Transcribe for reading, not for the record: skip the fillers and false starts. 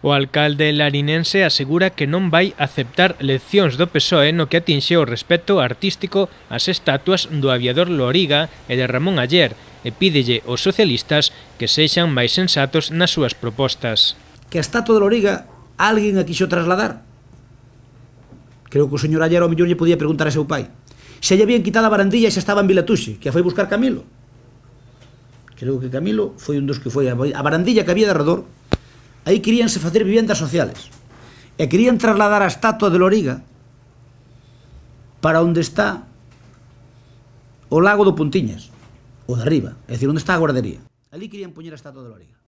O alcalde larinense asegura que non vai aceptar leccións do PSOE no que atinxe o respecto artístico ás estatuas do aviador Loriga e de Ramón Aller e pídelle aos socialistas que sexan máis sensatos nas súas propostas. Que a estatua de Loriga alguén a quixo trasladar. Creo que o señor Aller ao mellor lle podía preguntar a seu pai se lle habían quitado a barandilla e xa estaba en Vilatuxe, que a foi buscar Camilo. Creo que Camilo foi un dos que foi a barandilla que había de arredor. Aí queríanse facer vivendas sociales e querían trasladar a estatua de Loriga para onde está o lago do Puntiñas, o de arriba, é dicir, onde está a guardería. Ali querían poñer a estatua de Loriga.